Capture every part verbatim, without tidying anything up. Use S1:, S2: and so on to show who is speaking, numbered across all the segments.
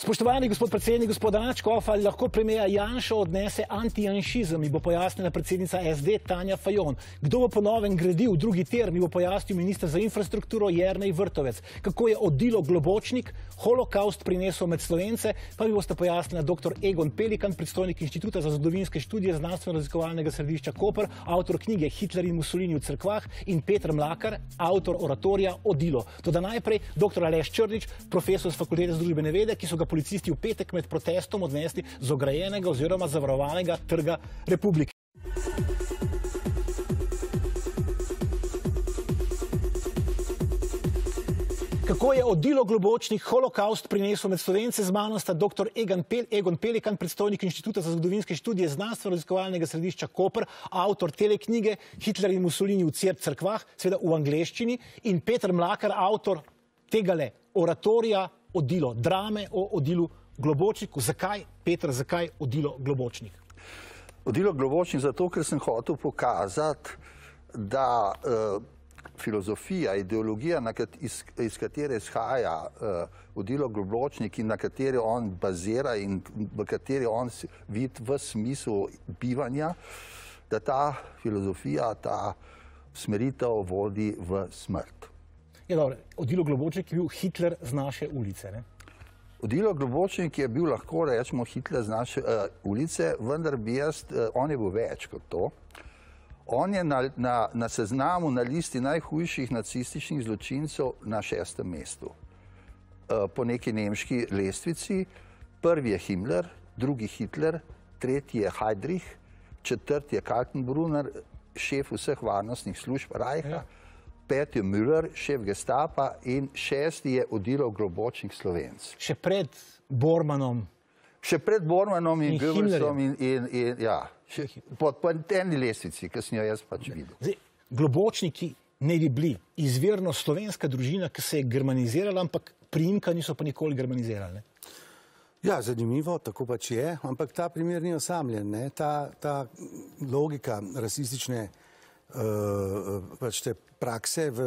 S1: Spoštovani gospod predsednik, gospod Anačkov, ali lahko premijer Janša odnese antijanšizem, mi bo pojasnila predsednica S D Tanja Fajon. Kdo bo po novem gradil drugi tir, mi bo pojasnil minister za infrastrukturo Jernej Vrtovec. Kako je odilo Globočnik holokaust prinesel med Slovence, pa mi boste pojasnila doktor Egon Pelikan, predstojnik Inštituta za zgodovinske študije Znanstveno-raziskovalnega središča Koper, avtor knjige Hitler in Mussolini v cerkvah, in Peter Mlakar, avtor oratorija Odilo. Toda najprej doktor Aleš Črnič, profesor z Fakultete za družbene vede, ki so ga policisti v petek med protestom odnesli z ograjenega oziroma zavarovanega trga Republike. Kako je odilo Globočnik holokaust prinesel med Slovence, z mano sta doktor Egon Pelikan, predstojnik Inštituta za zgodovinske študije Znanstveno-raziskovalnega središča Koper, avtor teleknjige Hitler in Mussolini v cerkvah, seveda v angleščini, in Peter Mlakar, avtor tegale oratorija Odilo, drame o odilu Globočniku. Zakaj, Peter, zakaj odilo Globočnik?
S2: Odilo Globočnik zato, ker sem hotel pokazati, da uh, filozofija, ideologija, kat, iz, iz katere izhaja uh, odilo Globočnik in na kateri on bazira in v kateri on vidi v smislu bivanja, da ta filozofija, ta smeritev vodi v smrt.
S1: Ja, dobro, odilo Globočnik je bil Hitler z naše ulice, ne?
S2: Odilo Globočnik je bil, lahko rečemo, Hitler z naše uh, ulice, vendar bi jaz, uh, on je bil več kot to. On je na, na, na seznamu, na listi najhujših nacističnih zločincev na šestem mestu. Uh, po neki nemški lestvici. Prvi je Himmler, drugi Hitler, tretji je Heydrich, četrti je Kaltenbrunner, šef vseh varnostnih služb Reicha. Ja. Peti je Müller, šef Gestapa, in šesti je odilo Globočnik Slovenc.
S1: Še pred Bormanom.
S2: Še pred Bormanom in,
S1: in
S2: Goebbelsom in, in, in ja, še po, po eni lestvici, ki sem jo jaz pač videl.
S1: Zdaj, Globočniki ne bi bili izvirno slovenska družina, ki se je germanizirala, ampak priimka niso pa nikoli germanizirali, ne?
S3: Ja, zanimivo, tako pač je, ampak ta primer ni osamljen, ne? Ta, ta logika rasistične Uh, pač te prakse v,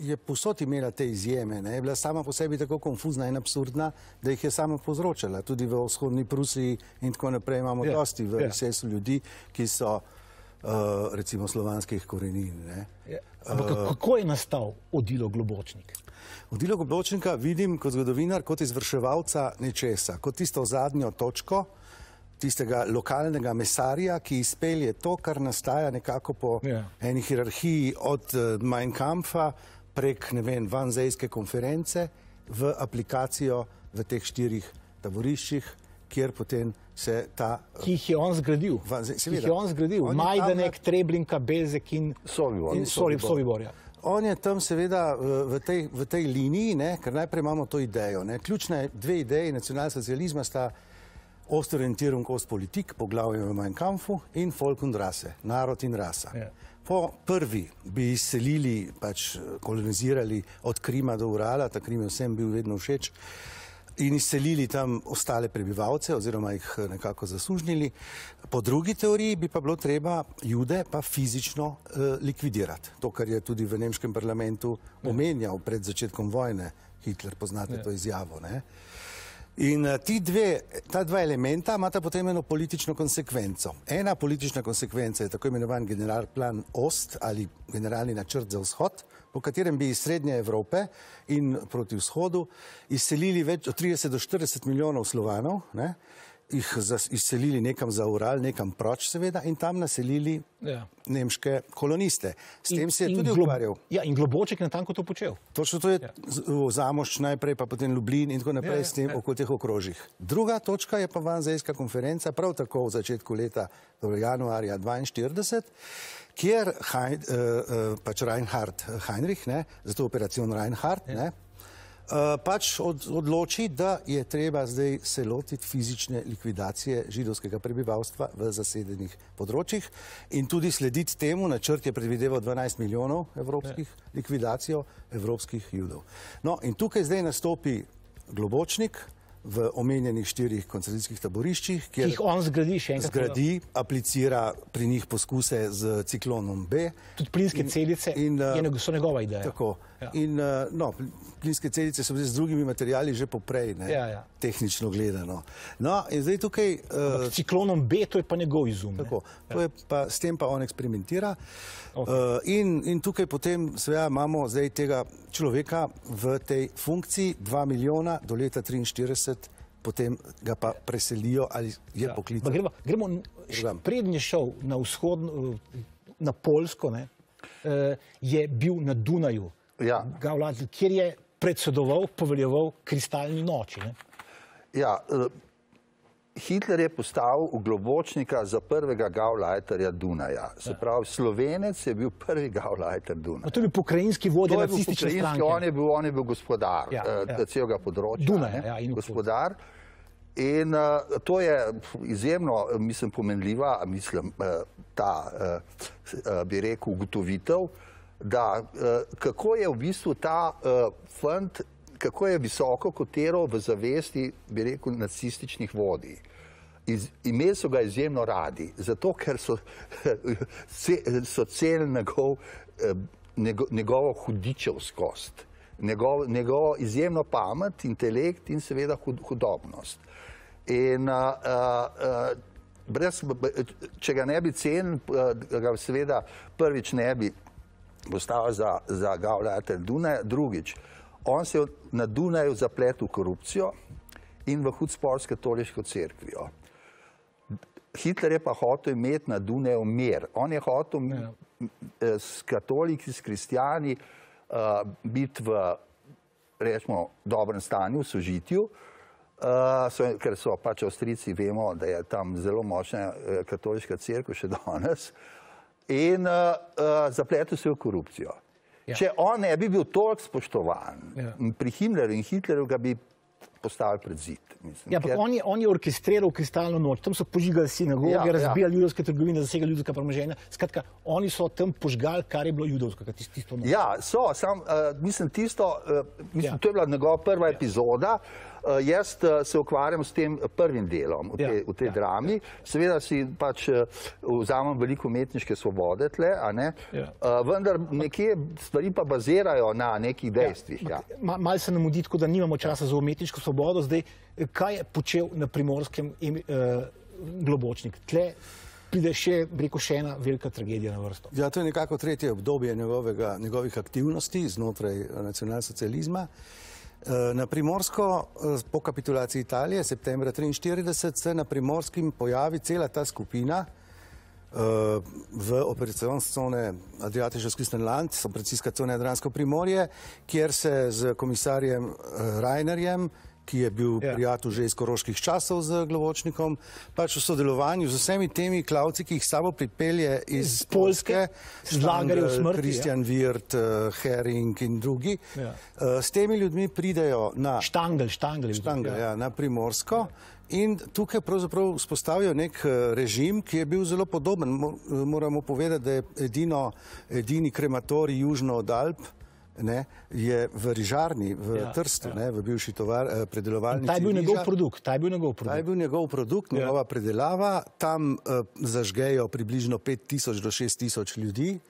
S3: je povsod imela te izjeme, ne? Je bila sama po sebi tako konfuzna in absurdna, da jih je sama povzročala. Tudi v vzhodni Prusiji in tako naprej imamo yeah, dosti v yeah. sesu ljudi, ki so uh, recimo slovanskih korenin. Ne?
S1: Yeah. Ampak uh, kako je nastal odilo Globočnik?
S3: Odilo Globočnika vidim kot zgodovinar, kot izvrševalca nečesa, kot tisto zadnjo točko, tistega lokalnega mesarja, ki izpelje to, kar nastaja nekako po yeah. eni hierarhiji od uh, Mein Kampfa prek, ne vem, Wannsejske konference v aplikacijo v teh štirih taboriščih, kjer potem se ta...
S1: Ki jih je on zgradil.
S3: Wannsej,
S1: ki jih je on zgradil. On Majdanek, tam... Treblinka, Bezek in
S2: Sobibor.
S1: In Sobibor, ja.
S3: On je tam seveda v tej, v tej liniji, ne, ker najprej imamo to idejo. Ne. Ključne dve ideji nacionalsocializma sta Ostorientierung Ostpolitik, poglavje v Mein Kampfu, in Volk und Rasse, narod in rasa. Yeah. Po prvi bi izselili, pač kolonizirali od Krima do Urala, ta Krim je vsem bil vedno všeč, in izselili tam ostale prebivalce oziroma jih nekako zasužnili. Po drugi teoriji bi pa bilo treba Jude pa fizično uh, likvidirati. To, kar je tudi v nemškem parlamentu yeah. omenjal pred začetkom vojne. Hitler, poznate yeah. to izjavo, ne? In ti dve, ta dva elementa imata potem eno politično konsekvenco. Ena politična konsekvenca je tako imenovan generalplan Ost ali generalni načrt za vzhod, po katerem bi iz Srednje Evrope in proti vzhodu izselili več od trideset do štirideset milijonov Slovanov, ne? Jih izselili nekam za Ural, nekam proč seveda, in tam naselili ja. nemške koloniste. S in, tem se je tudi ukvarjal.
S1: Ja, in Globočnik je natanko to počel.
S3: Točno to je ja. Zamošč najprej, pa potem Lublin in tako naprej ja, ja, s tem ja. okoli teh okrožjih. Druga točka je pa Wannsejska konferenca, prav tako v začetku leta, torej januarja dvainštirideset, kjer Hein, uh, uh, pač Reinhard Heinrich, ne, zato operacion Reinhard, ja. ne, Uh, pač od, odloči, da je treba zdaj se lotiti fizične likvidacije židovskega prebivalstva v zasedenih področjih in tudi slediti temu. Načrt je predvideval dvanajst milijonov evropskih ja. likvidacijo evropskih Judov. No, in tukaj zdaj nastopi Globočnik v omenjenih štirih koncentracijskih taboriščih,
S1: kjer jih on zgradi še enkrat.
S3: Zgradi, aplicira pri njih poskuse z ciklonom B.
S1: Tudi plinske celice in, in, so njegova ideja.
S3: Tako. Ja. In, no, plinske celice so z drugimi materiali že poprej, ne, ja, ja. tehnično gledano. No, in zdaj tukaj...
S1: Uh, ciklonom B, to je pa njegov izum.
S3: Tako, to
S1: ja.
S3: je pa, s tem pa on eksperimentira.
S1: Okay.
S3: Uh, in, in tukaj potem seveda imamo zdaj tega človeka v tej funkciji dva milijona do leta triinštirideset, potem ga pa preselijo ali je ja. poklical.
S1: Gremo, gremo prednji šel na vzhodno, na Poljsko, ne, je bil na Dunaju,
S2: ja.
S1: Gauleiter, kjer je predsedoval, poveljeval kristalni noči. Ne.
S2: Ja, Hitler je postavil v Globočnika za prvega Gauleiterja Dunaja. Se pravi, Slovenec je bil prvi Gauleiter Dunaja.
S1: To je bil pokrajinski vodja nacistične stranke.
S2: On je bil, on je bil gospodar ja, ja. celega področja.
S1: Dunaj, ja, in
S2: gospodar. In uh, to je izjemno, mislim, pomenljiva, mislim, uh, ta, uh, bi rekel, ugotovitev, da uh, kako je v bistvu ta uh, fant, kako je visoko kotiral v zavesti, bi rekel, nacističnih vodij. Iz, imeli so ga izjemno radi, zato ker so, so cel njegov, njegov, njegovo hudičevskost, njegov, njegovo izjemno pamet, intelekt in seveda hud, hudobnost. In uh, uh, brez, če ga ne bi cenil, ga seveda prvič ne bi postavil za, za Gauleiter Dunaja, drugič. On se je na Dunaju zapletel v korupcijo in v hud spor s katoliško cerkvijo. Hitler je pa hotel imeti na Dunaju mir. On je hotel ja. s katoliki, s kristijani uh, biti v, rečemo, dobrem stanju, v sožitju, uh, so, ker so pač Avstrijci, vemo, da je tam zelo močna uh, katoliška cerkev še danes, in uh, uh, zapletel se v korupcijo. Ja. Če on ne bi bil toliko spoštovan ja. pri Himmlerju in Hitlerju, ga bi postavili pred zid. Mislim,
S1: ja, ker... on, je, on je orkestriral kristalno noč, tam so požigali sinagoge, ja, razbijali ja. judovske trgovine, zasegali judovska premoženja. Skratka, oni so tam požgali, kar je bilo judovsko, tisto noč.
S2: Ja, so, sam, uh, mislim, tisto, uh, mislim, ja. to je bila njegova prva ja. epizoda. Uh, jaz uh, se ukvarjam s tem prvim delom v tej, ja. v tej ja. drami. Seveda si pač uh, vzamem veliko umetniške svobode tle, a ne? Ja. Uh, vendar nekje stvari pa bazirajo na nekih dejstvih. Ja. Ja.
S1: Ma, mal se nam udi, tako da nimamo časa za umetniško svobodo. Zdaj, kaj je počel na Primorskem uh, Globočnik? Tle pride še, rekel, še ena velika tragedija na vrsto.
S3: Ja, to je nekako tretje obdobje njegovega, njegovih aktivnosti znotraj nacionalsocializma. Na Primorsko, po kapitulaciji Italije, septembra triinštirideset, se na Primorskem pojavi cela ta skupina v operacijske cone Adriatiško-Küstenland, operacijska cona Jadransko Primorje, kjer se z komisarjem Reinerjem, ki je bil ja. prijatelj že iz koroških časov z Globočnikom, pač v sodelovanju z vsemi temi klavci, ki jih sabo pripelje iz
S1: z Poljske,
S3: Štangl, Kristjan ja. Virt, Hering in drugi. Ja. S temi ljudmi pridejo na
S1: Štangl, Štangl,
S3: Štangl, ja, na Primorsko in tukaj pravzaprav vzpostavijo nek režim, ki je bil zelo podoben. Moramo povedati, da je edino, edini krematorij južno od Alp, ne, je v Rižarni, v ja, Trstu, ja. ne, v bivši tovar, predelovalnici.
S1: Ta je bil njegov produkt, ta je bil njegov produkt.
S3: Ta je bil njegov produkt, njegova ja. predelava. Tam uh, zažgejo približno pet tisoč do šest tisoč ljudi.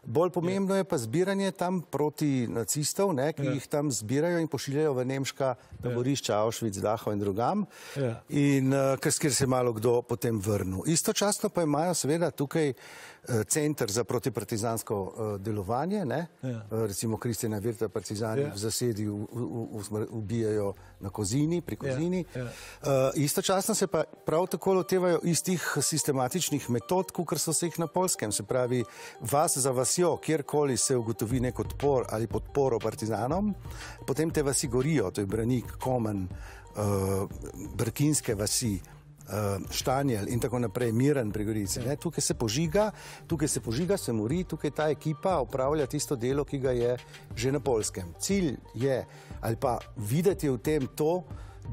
S3: Bolj pomembno je pa zbiranje tam proti nacistov, ne, ki ja. jih tam zbirajo in pošiljajo v nemška taborišča Auschwitz, Dachau in drugam, ja. in uh, kjer se malo kdo potem vrnil. Istočasno pa imajo seveda tukaj uh, center za protipartizansko uh, delovanje, ne, ja. uh, recimo Kristjana Virta partizani ja. v zasedi u, u, u, ubijajo na Kozini, pri Kozini. Ja. Ja. Uh, istočasno se pa prav tako lotevajo istih sistematičnih metod, kakor so se jih na Poljskem, se pravi vas za vasjo, kjerkoli se ugotovi nek odpor ali podporo partizanom, potem te vasi gorijo, to je Branik, Komen, uh, Brkinske vasi, uh, Štanjel in tako naprej, Miren pri Gorici. Ne? Tukaj se požiga, tukaj se požiga, se mori, tukaj ta ekipa opravlja tisto delo, ki ga je že na Poljskem. Cilj je, ali pa videti v tem to,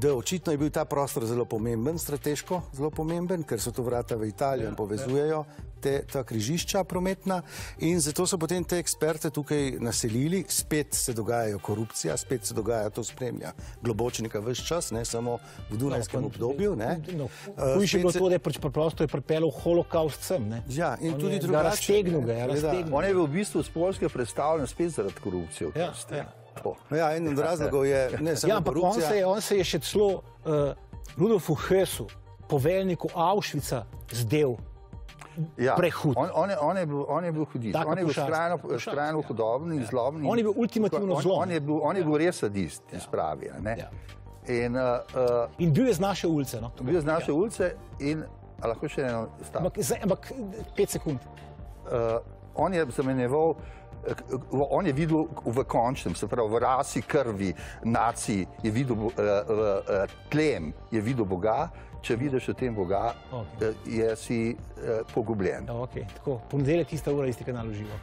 S3: da očitno je bil ta prostor zelo pomemben, strateško zelo pomemben, ker so to vrata v Italijo in povezujejo te, ta križišča prometna in zato so potem te eksperte tukaj naselili, spet se dogajajo korupcija, spet se dogaja, to spremlja Globočnika ves čas, ne samo v Dunajskem no, obdobju.
S1: No, Hujše je bilo to, da je preprosto je pripeljal holokaust sem. Ne?
S3: Ja, in
S1: on
S3: tudi
S1: je,
S3: drugače.
S1: Ga raztegnil ga, je raztegnil.
S2: On je bil v bistvu z Poljske predstavljen spet zaradi korupcije.
S1: Ja, ja.
S3: Ja, en od razlogov je ne samo
S1: ja, korupcija. On se, je, on se je še celo uh, Rudolfu Hösu, poveljniku Auschwitza, zdel
S2: ja,
S1: prehud.
S2: On, on, je, on, je bil, on je bil hudič. On je bil skrajno, skrajno
S1: ja.
S2: hudobni in
S1: ja.
S2: zlobni.
S1: On je bil ultimativno zlom.
S2: On, on je bil, on je bil res sadist, ja. Spravi. Ne? Ja. In, uh,
S1: in bil je z naše ulice. No?
S2: Bil je z naše
S1: ja.
S2: ulice in lahko še eno stavek.
S1: Ampak, ampak pet sekund.
S2: Uh, on je zamenjeval, on je videl v končnem, se pravi v rasi, krvi, naciji, je videl uh, uh, tlem, je videl Boga, če vidiš v tem Boga, okay. uh, je si uh, pogubljen.
S1: Okay. Tako, ponedeljek, tista ura, isti kanal v živo.